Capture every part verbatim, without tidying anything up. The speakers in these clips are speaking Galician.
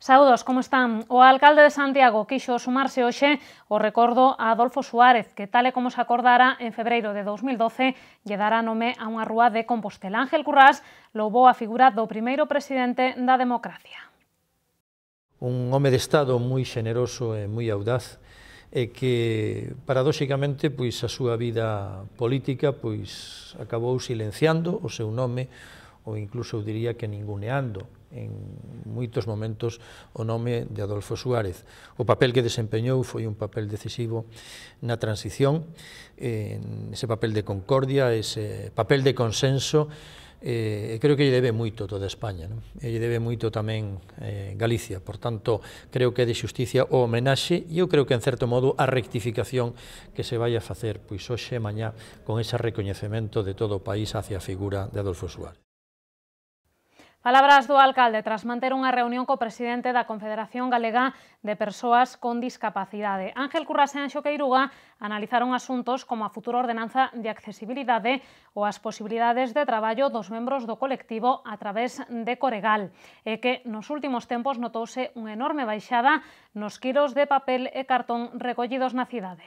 Saúdos, como están? O alcalde de Santiago quixo sumarse hoxe ao recordo a Adolfo Suárez, que tal e como se acordara en febreiro de dous mil doce, lle dará nome a unha rúa de Compostela. Ángel Currás louvou a figura do primeiro presidente da democracia. Un home de Estado moi xeneroso e moi audaz, e que, paradóxicamente, pois a súa vida política pois acabou silenciando o seu nome, ou incluso eu diría que ninguneando en moitos momentos o nome de Adolfo Suárez. O papel que desempeñou foi un papel decisivo na transición, en ese papel de concordia, ese papel de consenso, e creo que lle debe moito toda España, non? E lle debe moito tamén eh, Galicia, por tanto, creo que é de xusticia o homenaxe, e eu creo que, en certo modo, a rectificación que se vai a facer pois hoxe e mañá con ese recoñecemento de todo o país hacia a figura de Adolfo Suárez. Palabras do alcalde tras manter unha reunión co presidente da Confederación Galega de Persoas con Discapacidade. Ángel Currás e Anxo Queiruga analizaron asuntos como a futura ordenanza de accesibilidade ou as posibilidades de traballo dos membros do colectivo a través de Coregal, e que nos últimos tempos notouse unha enorme baixada nos quilos de papel e cartón recollidos na cidade.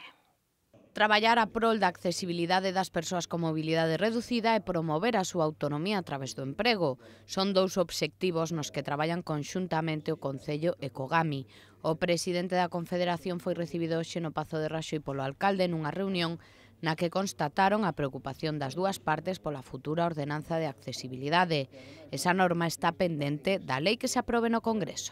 Traballar a prol da accesibilidade das persoas con mobilidade reducida e promover a súa autonomía a través do emprego. Son dous obxectivos nos que traballan conxuntamente o Concello e Cogami. O presidente da Confederación foi recibido hoxe no Pazo de Raxoi polo alcalde nunha reunión na que constataron a preocupación das dúas partes pola futura ordenanza de accesibilidade. Esa norma está pendente da lei que se aprobe no Congreso.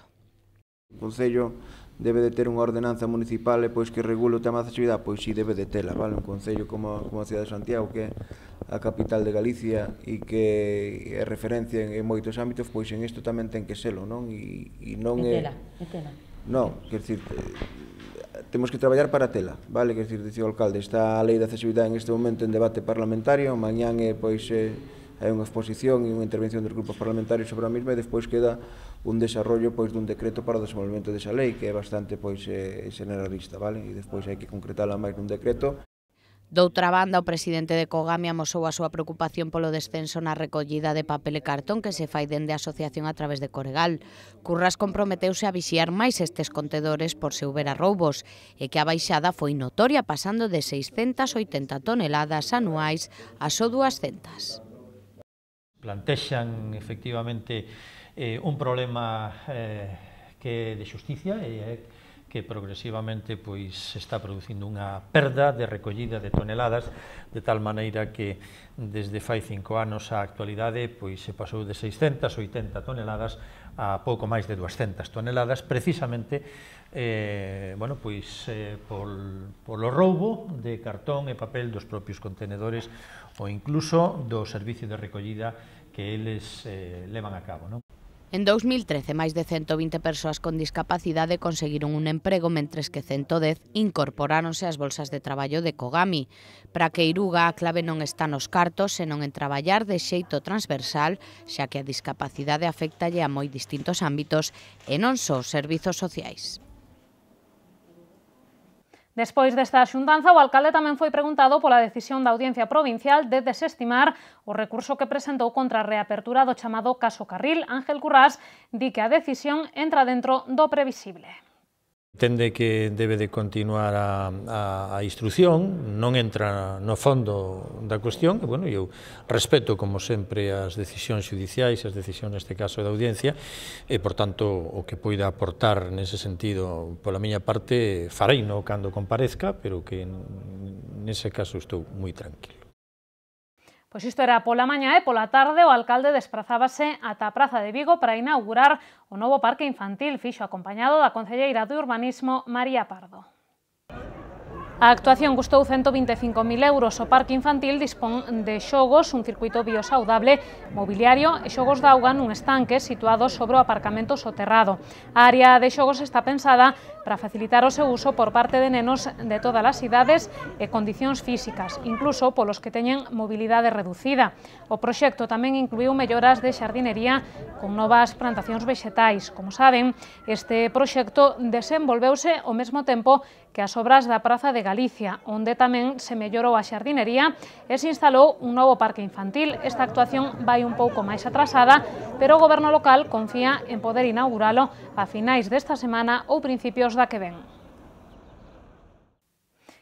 O Concello debe de ter unha ordenanza municipal e pois que regule o tema da accesibilidade, pois si debe de tela, vale? Un concello como, como a cidade de Santiago, que é a capital de Galicia e que é referencia en, en moitos ámbitos, pois en isto tamén ten que selo, non? E, e non é... tela, é tela. Non, quer dicir, temos que traballar para tela, vale? Quer dicir, dicía o alcalde, está a lei de accesibilidade en este momento en debate parlamentario, mañán é, pois, é, hai unha exposición e unha intervención dos grupos parlamentarios sobre a mesma, e despois queda un desarrollo pois dun decreto para o desenvolvemento desa lei, que é bastante pois eh, generalista, vale? E despois hai que concretala máis nun decreto. Doutra banda, o presidente de Cogami amosou a súa preocupación polo descenso na recollida de papel e cartón que se fai dende a asociación a través de Coregal. Currás comprometeuse a vixiar máis estes contedores por se houbera roubos, e que a baixada foi notoria, pasando de seiscentas e oitenta toneladas anuais a só duascentas. Plantexan, efectivamente, eh, un problema eh, que é de xusticia e é que progresivamente pois se está producindo unha perda de recollida de toneladas, de tal maneira que desde fai cinco anos á actualidade pois se pasou de seiscentas e oitenta toneladas a pouco máis de duascentas toneladas, precisamente eh, bueno, pois, eh, pol, polo roubo de cartón e papel dos propios contenedores ou incluso do servicio de recollida que eles eh, levan a cabo, non? En dous mil trece, máis de cento vinte persoas con discapacidade conseguiron un emprego, mentres que cento dez incorporáronse ás bolsas de traballo de Cogami. Para Queiruga, a clave non está nos cartos, senón en traballar de xeito transversal, xa que a discapacidade afectalle a moi distintos ámbitos e non só os servizos sociais. Despois desta xuntanza, o alcalde tamén foi preguntado pola decisión da Audiencia Provincial de desestimar o recurso que presentou contra a reapertura do chamado caso Carril. Ángel Currás di que a decisión entra dentro do previsible. Entende que debe de continuar a, a, a instrucción, non entra no fondo da cuestión, e, bueno, eu respeto, como sempre, as decisións judiciais, as decisións, neste caso, da audiencia, e, por tanto, o que poida aportar nese sentido, pola miña parte, fareino cando comparezca, pero que, nese caso, estou moi tranquilo. Pois isto era pola mañá, e pola tarde o alcalde desprazábase ata a Praza de Vigo para inaugurar o novo parque infantil, fixo acompañado da concelleira de Urbanismo, María Pardo. A actuación custou cento vinte e cinco mil euros. O parque infantil dispón de xogos, un circuito biosaudable, mobiliario e xogos de auga nun estanque situado sobre o aparcamento soterrado. A área de xogos está pensada para facilitar o seu uso por parte de nenos de todas as idades e condicións físicas, incluso polos que teñen mobilidade reducida. O proxecto tamén incluíu melloras de xardinería con novas plantacións vexetais. Como saben, este proxecto desenvolveuse ao mesmo tempo que as obras da Praza de Galicia, onde tamén se mellorou a xardinería e se instalou un novo parque infantil. Esta actuación vai un pouco máis atrasada, pero o goberno local confía en poder inauguralo a finais desta semana ou principios da que ven.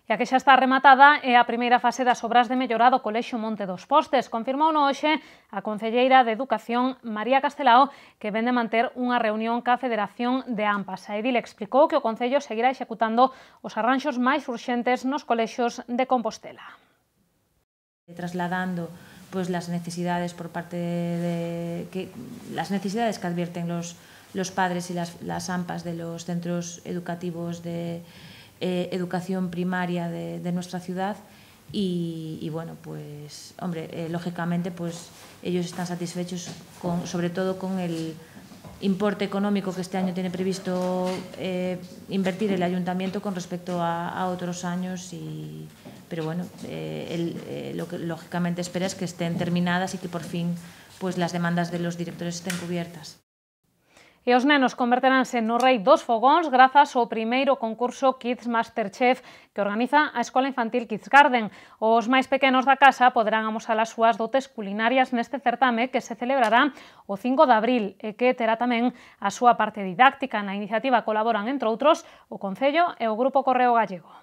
E a que xa está rematada é a primeira fase das obras de mellora do Colexio Monte dos Postes. Confirmou no hoxe a concelleira de Educación, María Castelao, que ven de manter unha reunión ca Federación de AMPAs. A edil explicou que o Concello seguirá executando os arranxos máis urxentes nos colexios de Compostela. Trasladando pues las necesidades por parte de que las necesidades que advierten los, los padres y las, las AMPAs de los centros educativos de Eh, educación primaria de, de nuestra ciudad y, y bueno, pues, hombre, eh, lógicamente, pues ellos están satisfechos con, sobre todo con el importe económico que este año tiene previsto eh, invertir el ayuntamiento con respecto a, a otros años y, pero bueno, eh, el, eh, lo que lógicamente espera es que estén terminadas y que por fin pues las demandas de los directores estén cubiertas. E os nenos converteránse no rei dos fogóns grazas ao primeiro concurso Kids Masterchef que organiza a Escola Infantil Kids Garden. Os máis pequenos da casa poderán amosar as súas dotes culinarias neste certame que se celebrará o cinco de abril e que terá tamén a súa parte didáctica. Na iniciativa colaboran, entre outros, o Concello e o Grupo Correo Gallego.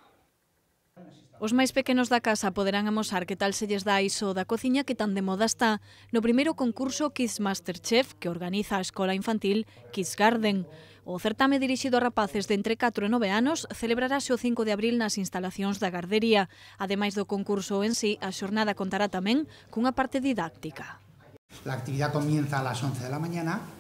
Os máis pequenos da casa poderán amosar que tal se lles dá iso da cociña que tan de moda está no primeiro concurso Kids Masterchef que organiza a Escola Infantil Kids Garden. O certame dirixido a rapaces de entre catro e nove anos celebrarase o cinco de abril nas instalacións da gardería. Ademais do concurso en sí, a xornada contará tamén cunha parte didáctica. La actividad comienza a las once de la mañana.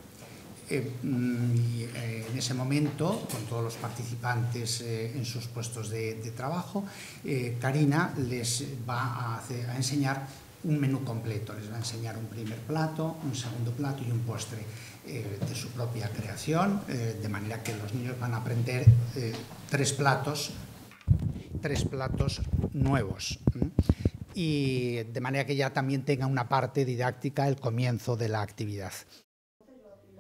Eh, y, eh, en ese momento, con todos los participantes eh, en sus puestos de, de trabajo, eh, Karina les va a, hacer, a enseñar un menú completo. Les va a enseñar un primer plato, un segundo plato y un postre eh, de su propia creación, eh, de manera que los niños van a aprender eh, tres platos, tres platos nuevos. ¿eh? Y de manera que ya también tenga una parte didáctica el comienzo de la actividad.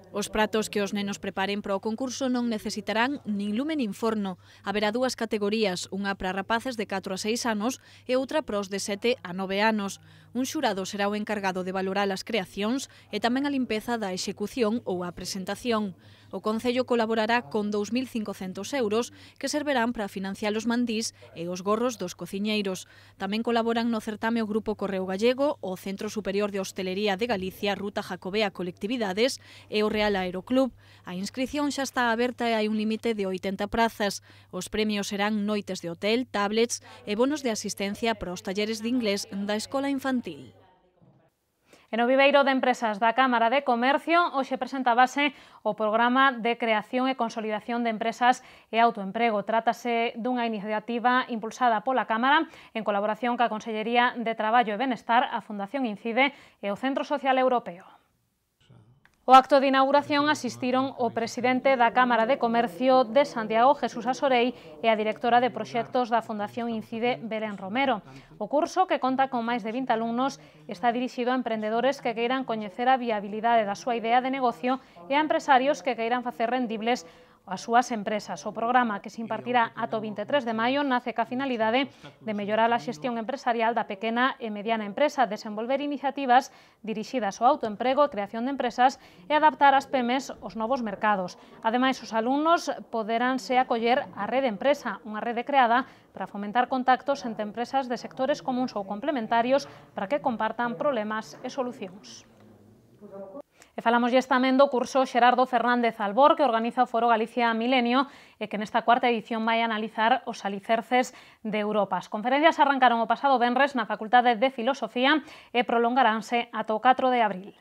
Os pratos que os nenos preparen para o concurso non necesitarán nin lume nin forno. Haberá dúas categorías, unha para rapaces de catro a seis anos e outra para os de sete a nove anos. Un xurado será o encargado de valorar as creacións e tamén a limpeza da execución ou a presentación. O Concello colaborará con dous mil cincocentos euros que servirán para financiar os mandís e os gorros dos cociñeiros. Tamén colaboran no certame o Grupo Correo Gallego, o Centro Superior de Hostelería de Galicia, Ruta Jacobea Colectividades e o Real Aeroclub. A inscrición xa está aberta e hai un límite de oitenta prazas. Os premios serán noites de hotel, tablets e bonos de asistencia para os talleres de inglés da Escola Infantil. E no Viveiro de Empresas da Cámara de Comercio hoxe presentábase o Programa de Creación e Consolidación de Empresas e Autoemprego. Trátase dunha iniciativa impulsada pola Cámara en colaboración ca Consellería de Traballo e Benestar, a Fundación Incide e o Centro Social Europeo. O acto de inauguración asistiron o presidente da Cámara de Comercio de Santiago, Jesús Asorei, e a directora de proxectos da Fundación Incide, Belén Romero. O curso, que conta con máis de vinte alumnos, está dirixido a emprendedores que queiran coñecer a viabilidade da súa idea de negocio e a empresarios que queiran facer rendibles as súas empresas. O programa, que se impartirá ata o vinte e tres de maio, nace ca finalidade de mellorar a xestión empresarial da pequena e mediana empresa, desenvolver iniciativas dirixidas ao autoemprego e creación de empresas e adaptar as pemes aos novos mercados. Ademais, os alumnos poderánse acoller á Rede Empresa, unha rede creada para fomentar contactos entre empresas de sectores comuns ou complementarios para que compartan problemas e solucións. E falamoslle tamén do curso Xerardo Fernández Albor, que organiza o Foro Galicia Milenio e que nesta cuarta edición vai analizar os alicerces de Europa. As conferencias arrancaron o pasado venres na Facultade de Filosofía e prolongaránse ata o catro de abril.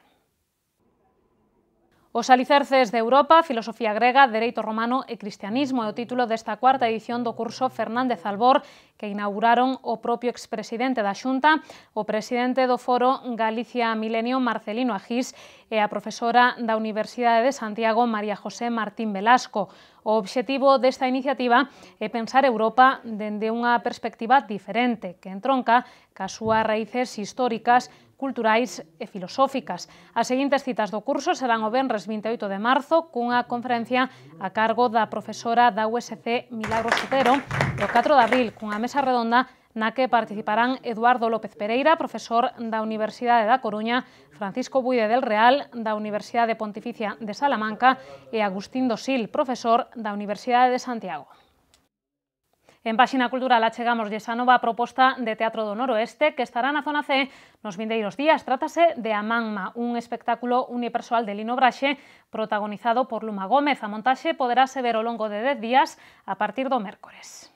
Os alicerces de Europa, filosofía grega, dereito romano e cristianismo é o título desta cuarta edición do curso Fernández Albor, que inauguraron o propio expresidente da Xunta, o presidente do Foro Galicia Milenio, Marcelino Agís, e a profesora da Universidade de Santiago, María José Martín Velasco. O obxectivo desta iniciativa é pensar Europa dende unha perspectiva diferente, que entronca cas súas raíces históricas, culturais e filosóficas. As seguintes citas do curso serán o venres vinte e oito de marzo cunha conferencia a cargo da profesora da U S C Milagros Otero e o catro de abril cunha mesa redonda na que participarán Eduardo López Pereira, profesor da Universidade da Coruña, Francisco Buide del Real, da Universidade Pontificia de Salamanca e Agustín Dosil, profesor da Universidade de Santiago. En Páxina Cultural achegamos esa nova proposta de Teatro do Noroeste que estará na Zona C nos vindeiros días. Trátase de A Manma, un espectáculo unipersoal de Lino Braxe protagonizado por Luma Gómez. A montaxe poderase ver ao longo de dez días a partir do mércores.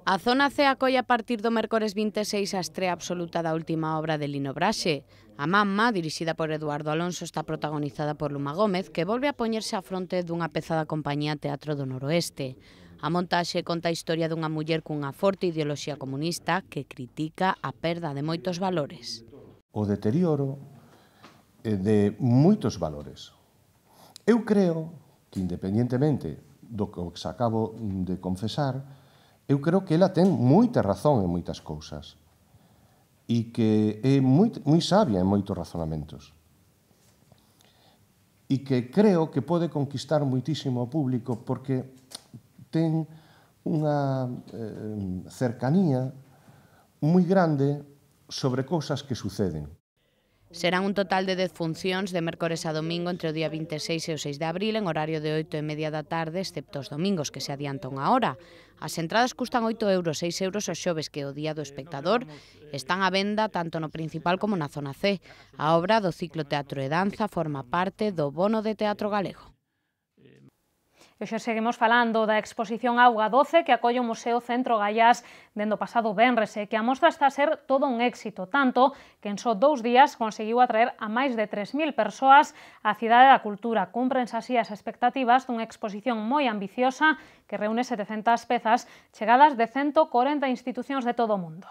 A Zona C acolle a partir do mércores vinte e seis a estrea absoluta da última obra de Lino Braxe. A Manma, dirixida por Eduardo Alonso, está protagonizada por Luma Gómez, que volve a poñerse á fronte dunha peza da compañía Teatro do Noroeste. A montaxe conta a historia dunha muller cunha forte ideoloxía comunista que critica a perda de moitos valores. O deterioro de moitos valores. Eu creo que, independentemente do que se acabo de confesar, eu creo que ela ten moita razón en moitas cousas e que é moi, moi sabia en moitos razonamentos. E que creo que pode conquistar moitísimo o público porque ten unha eh, cercanía moi grande sobre cousas que suceden. Serán un total de dez funcións de mércores a domingo entre o día vinte e seis e o seis de abril en horario de oito e media da tarde, excepto os domingos, que se adianta unha hora. As entradas custan oito euros, seis euros os xoves, que o día do espectador están á venda tanto no principal como na Zona C. A obra do ciclo Teatro e Danza forma parte do Bono de Teatro Galego. E hoxe seguimos falando da exposición Auga doce que acolle o Museo Centro Gaiás dende o pasado venres e que a mostra está a ser todo un éxito, tanto que en só dous días conseguiu atraer a máis de tres mil persoas á Cidade da Cultura. Cúmprense así as expectativas dunha exposición moi ambiciosa que reúne setecentas pezas chegadas de ciento corenta institucións de todo o mundo.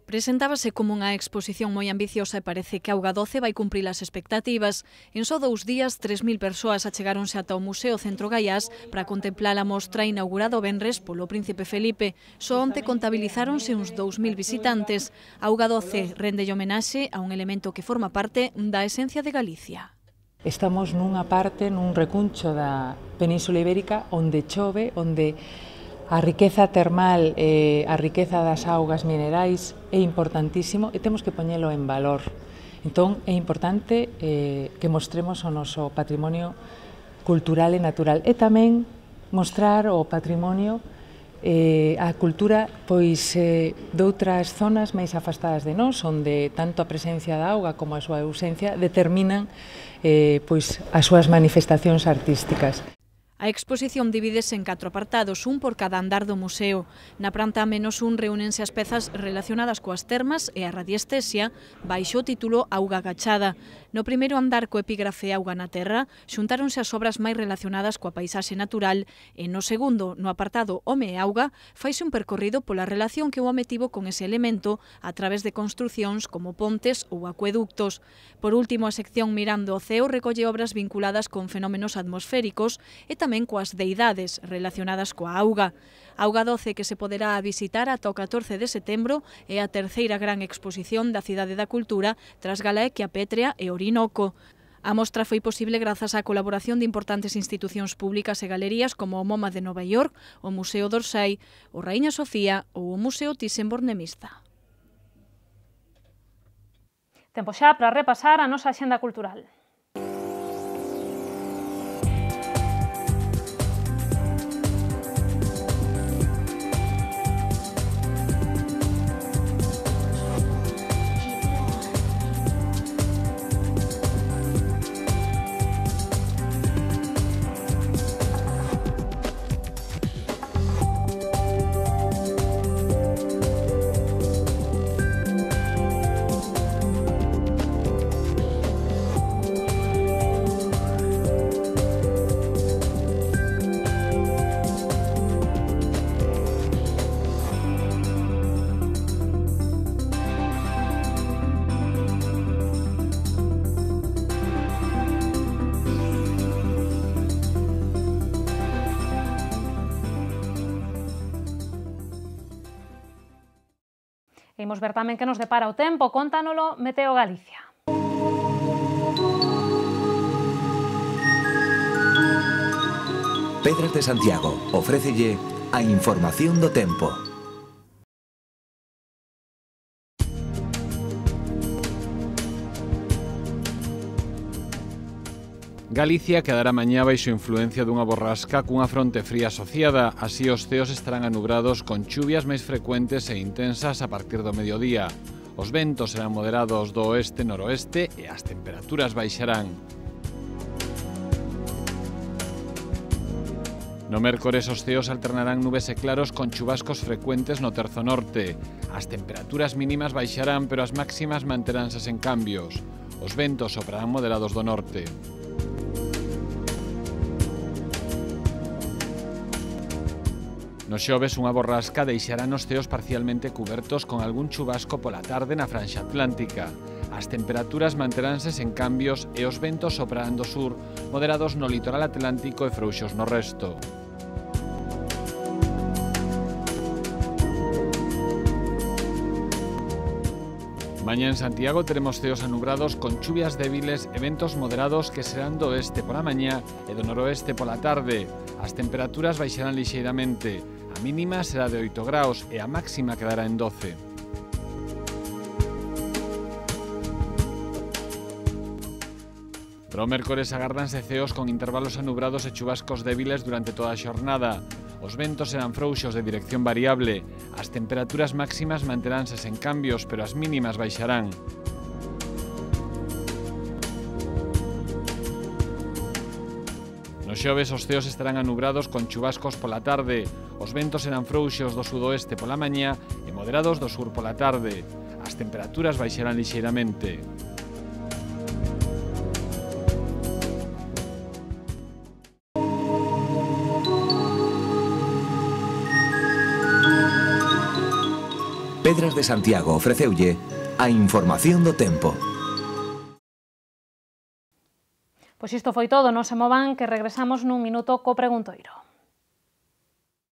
Presentábase como unha exposición moi ambiciosa e parece que Auga doce vai cumprir as expectativas. En só dous días, tres mil persoas achegáronse ata o Museo Centro Gaiás para contemplar a mostra inaugurada o venres polo Príncipe Felipe. Só onte contabilizáronse uns dous mil visitantes. Auga doce rende homenaxe a un elemento que forma parte da esencia de Galicia. Estamos nunha parte, nun recuncho da Península Ibérica, onde chove, onde a riqueza termal, eh, a riqueza das augas minerais é importantísimo e temos que poñelo en valor. Entón, é importante eh, que mostremos o noso patrimonio cultural e natural e tamén mostrar o patrimonio, eh, a cultura pois eh, doutras zonas máis afastadas de nós, onde tanto a presencia da auga como a súa ausencia determinan eh, pois as súas manifestacións artísticas. A exposición divídese en catro apartados, un por cada andar do museo. Na planta menos un reúnense as pezas relacionadas coas termas e a radiestesia baixo o título Auga Agachada. No primeiro andar co epígrafe Auga na Terra xuntáronse as obras máis relacionadas coa paisaxe natural e no segundo, no apartado Home e Auga, faise un percorrido pola relación que o home tivo con ese elemento a través de construcións como pontes ou acueductos. Por último, a sección Mirando o Ceo recolle obras vinculadas con fenómenos atmosféricos e tamén coas deidades relacionadas coa auga. Auga doce que se poderá visitar ata o catorce de setembro é a terceira gran exposición da Cidade da Cultura tras Galaequia Pétrea e Orinoco. A mostra foi posible grazas á colaboración de importantes institucións públicas e galerías como o MoMA de Nova York, o Museo d'Orsay, o Raíña Sofía ou o Museo Thyssen-Bornemisza. Tempo xa para repasar a nosa axenda cultural. Imos ver tamén que nos depara o tempo, contándolo Meteo Galicia. Pedras de Santiago ofrécelle a información do tempo. Galicia quedará mañá baixo influencia dunha borrasca cunha fronte fría asociada, así os ceos estarán anubrados con chuvias máis frecuentes e intensas a partir do mediodía. Os ventos serán moderados do oeste-noroeste e as temperaturas baixarán. No mércores os ceos alternarán nubes e claros con chubascos frecuentes no terzo norte. As temperaturas mínimas baixarán, pero as máximas manteránse sen cambios. Os ventos soprarán moderados do norte. No xoves, unha borrasca deixará nos ceos parcialmente cubertos con algún chubasco pola tarde na franxa atlántica. As temperaturas manteránse sen cambios e os ventos soprarán do sur, moderados no litoral atlántico e frouxos no resto. Mañá en Santiago teremos ceos anubrados con chuvias débiles e ventos moderados que serán do oeste pola mañá e do noroeste pola tarde. As temperaturas baixarán lixeiramente. A mínima será de oito graus e a máxima quedará en doce. Para o mércores agárdanse ceos con intervalos anubrados e chubascos débiles durante toda a xornada. Os ventos serán frouxos de dirección variable. As temperaturas máximas manteránse sen cambios, pero as mínimas baixarán. No xoves os ceos estarán anubrados con chubascos pola tarde. Os ventos serán frouxos do sudoeste pola mañá e moderados do sur pola tarde. As temperaturas baixarán lixeiramente. Pedras de Santiago ofreceulle a información do tempo. Pois isto foi todo, non se movan que regresamos nun minuto co preguntoiro.